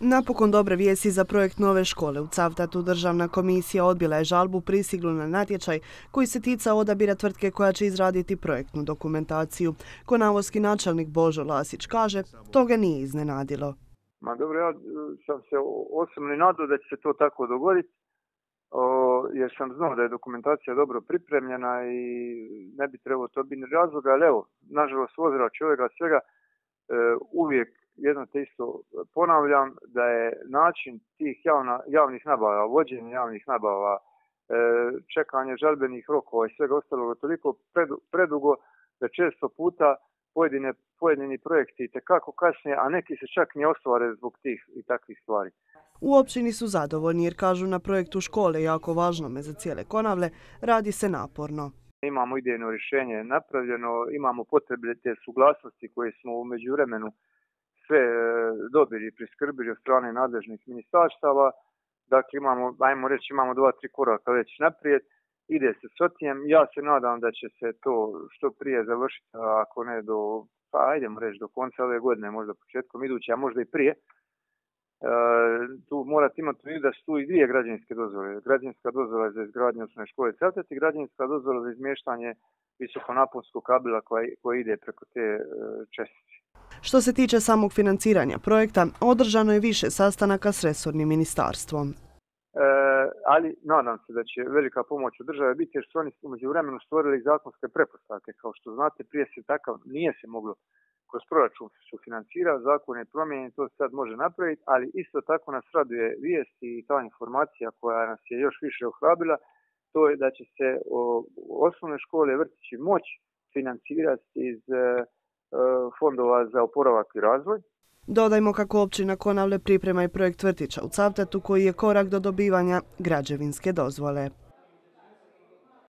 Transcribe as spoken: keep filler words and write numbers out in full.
Napokon dobre vijesti za projekt nove škole. U Cavtatu državna komisija odbila je žalbu prisiglu na natječaj koji se ticao odabira tvrtke koja će izraditi projektnu dokumentaciju. Konavoski načelnik Božo Lasić kaže, to ga nije iznenadilo. Ma dobro, ja sam se osobno nadao da će se to tako dogoditi, jer sam znao da je dokumentacija dobro pripremljena i ne bi trebalo to biti razloga, ali evo, nažalost, ozra čovjeka svega uvijek jedno te isto ponavljam, da je način tih javna, javnih nabava, vođenja javnih nabava, čekanje žalbenih rokova i svega ostaloga toliko predugo da često puta pojedine, pojedini projekti itekako kasnije, a neki se čak ne ostvare zbog tih i takvih stvari. U općini su zadovoljni jer kažu na projektu škole, jako važnome za cijele Konavle, radi se naporno. Imamo idejno rješenje napravljeno, imamo potrebe te suglasnosti koje smo u međuvremenu sve dobili i priskrbili od strane nadležnih ministarstava. Dakle, imamo, ajmo reći, imamo dva, tri koraka već naprijed. Ide se s otijem. Ja se nadam da će se to što prije završiti, ako ne do, pa ajdemo reći do konca ove godine, možda početkom iduće, a možda i prije. E, tu morate imati u vidu da su tu i dvije građevinske dozvole. Građevinska dozvola za izgradnju osnovne škole Cavtat i građevinska dozvola za izmještanje visokonaponskog kabela koji, koji ide preko te e, čestice. Što se tiče samog financiranja projekta, održano je više sastanaka s resornim ministarstvom. E, ali nadam se da će velika pomoć od države biti jer su oni u međuvremenu stvorili zakonske pretpostavke. Kao što znate, prije se takav nije se moglo kroz proračun su financirati, zakon je promijenjen, to se sad može napraviti, ali isto tako nas raduje vijest i ta informacija koja nas je još više ohrabrila, to je da će se o, osnovne škole, vrtići moći financirati iz fondova za oporavak i razvoj. Dodajmo kako općina Konavle priprema i projekt vrtića u Cavtatu koji je korak do dobivanja građevinske dozvole.